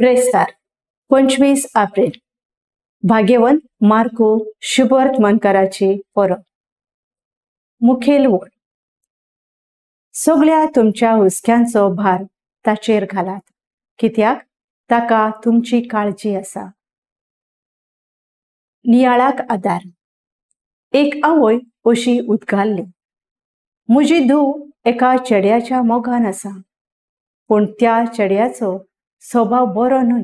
ब्रेस्तार 25 एप्रिल भाग्यवंत Marco शुभवर्तमानकाराची परब। मुखेल वोड सगळ्या तुमच्या हुस्क्यांचो भार ताचेर घालात, कित्याक ताका तुमची काळजी आसा। नियाळाक आदार। एक आवय अशी उद्गारली, म्हजी धूव एका चेड्याच्या मोगान आसा, पूण त्या चेड्याचो स्वभाव बरो न्हय।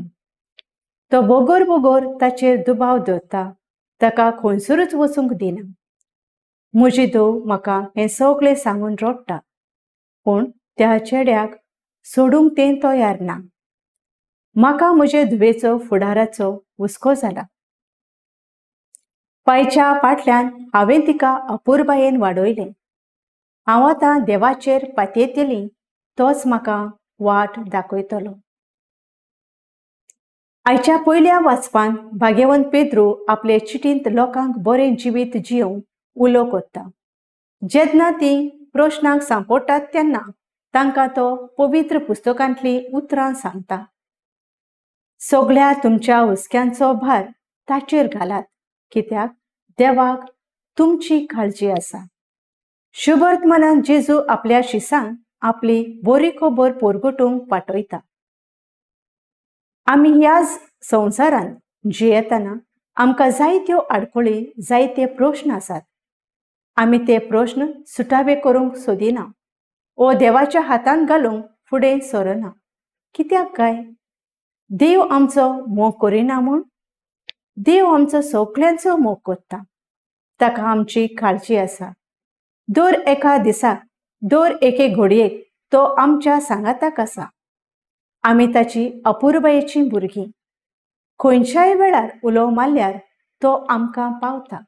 तो बोगोर बोगोर ताचेर दुबाव दवरता, ताका खंयसरूच वचूंक दिना। म्हजी धूव म्हाका हें सगळें सांगून रडटा, पूण त्या चेड्याक सोडूंक तें तयार ना। म्हाका म्हजे धुवेचो फुडाराचो हुस्को जाला। पायच्या फाटल्यान हांवें तिका अपुरबायेन वाडयलें। हांव आतां देवाचेर पातयेतली, तोच म्हाका वाट दाखयतलो। आयच्या पयल्या वाचपान भाग्यवंत पेद्रू आपले चिटींत लोकांक बरें जिवीत जियोवंक उलो करता। जेन्ना ती प्रश्नांक सांपडटात तेन्ना तांकां तो पवित्र पुस्तकांतली उतरां सांगता। सगळ्या तुमच्या हुस्क्यांचो भार ताचेर घालात, कित्याक देवाक तुमची काळजी आसा। शुभवर्तमानान जेजू आपल्या शिसांक आपली बरी खबर परगटूंक पाठयता। आमी ह्या संवसारांत जियेतना आमकां जायत्यो आडखळी, जायते प्रश्न आसात। आमी ते प्रश्न सुटावे करूंक सोदिना ओ देवाच्या हातांत घालूंक फुडें सरना। कित्याक काय? देव आमचो मोग करिना म्हूण? देव आमचो सगळ्यांचो मोग करता, ताका आमची काळजी आसा। दर एका दिसाक, दर एके घडयेक तो आमच्या सांगाताक आसा। आमी ताची अपुरबायेची भुरगीं। खंयच्याय वेळार उलो मारल्यार तो आमकां पावता।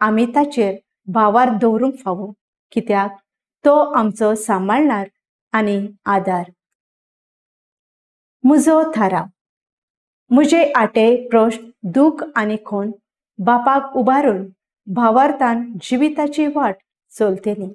आमी ताचेर भावार दवरूंक फावो, कित्याक तो आमचो सांबाळणार आनी आदार। म्हजो थाराव। म्हजे आटे प्रश्न, दूख आनी खून बापाक उबारून भावार्थान जिविताची वाट चलतली।